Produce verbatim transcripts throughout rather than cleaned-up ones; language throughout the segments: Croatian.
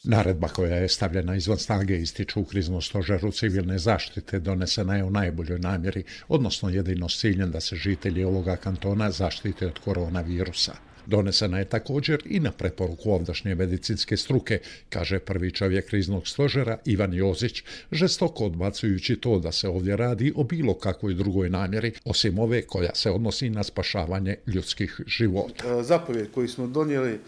Naredba koja je stavljena izvan snage, ističu u kriznom stožeru civilne zaštite, donesena je u najboljoj namjeri, odnosno jedino s ciljem da se žitelji ovoga kantona zaštite od koronavirusa. Donesena je također i na preporuku ovdašnje medicinske struke, kaže prvi čovjek kriznog stožera Ivan Jozić, žestoko odbacujući to da se ovdje radi o bilo kakvoj drugoj namjeri, osim ove koja se odnosi na spašavanje ljudskih života. Zapovjed koju smo donijeli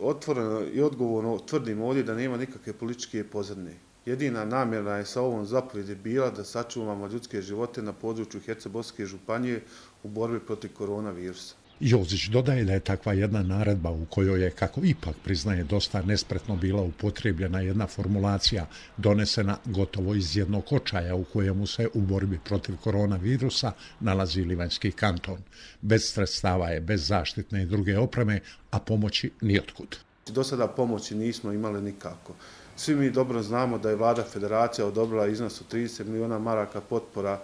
otvoreno i odgovorno tvrdim ovdje da nema nikakve političke pozadine. Jedina namjera je sa ovom zapovjedi bila da sačuvamo ljudske živote na području Hercegovačke županije u borbi protiv koronavirusa. Jozić dodaje da je takva jedna naredba u kojoj je, kako ipak priznaje, dosta nespretno bila upotrijebljena jedna formulacija donesena gotovo iz jednog očaja u kojemu se u borbi protiv koronavirusa nalazi Livanjski kanton. Bez sredstava je, bez zaštitne i druge opreme, a pomoći nijotkud. Do sada pomoći nismo imali nikako. Svi mi dobro znamo da je vlada federacija odobrila iznos od trideset miliona maraka potpora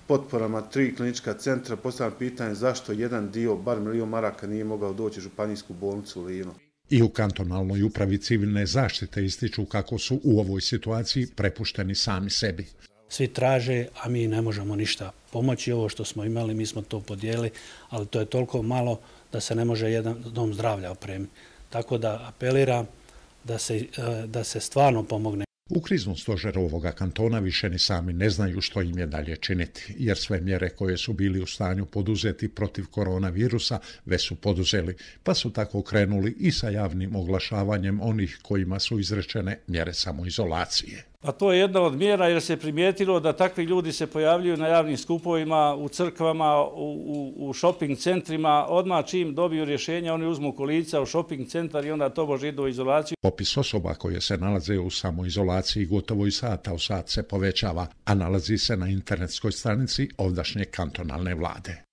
potporama tri klinička centra. Postavljam pitanje zašto jedan dio, bar milion maraka, nije mogao doći u županijsku bolnicu u Livnu. I u kantonalnoj upravi civilne zaštite ističu kako su u ovoj situaciji prepušteni sami sebi. Svi traže, a mi ne možemo ništa pomoći. Ovo što smo imali, mi smo to podijelili, ali to je toliko malo da se ne može jedan dom zdravlja opremiti. Tako da apeliram da se, da se stvarno pomogne. U kriznom stožeru ovoga kantona više ni sami ne znaju što im je dalje činiti, jer sve mjere koje su bili u stanju poduzeti protiv koronavirusa već su poduzeli, pa su tako krenuli i sa javnim oglašavanjem onih kojima su izrečene mjere samoizolacije. A to je jedna od mjera jer se primijetilo da takvi ljudi se pojavljuju na javnim skupovima, u crkvama, u, u, u shopping centrima. Odmah čim dobiju rješenja, oni uzmu kolica u shopping centar i onda to može idu u izolaciju. Popis osoba koje se nalaze u samoizolaciji gotovo i sata u sat se povećava, a nalazi se na internetskoj stranici ovdašnje kantonalne vlade.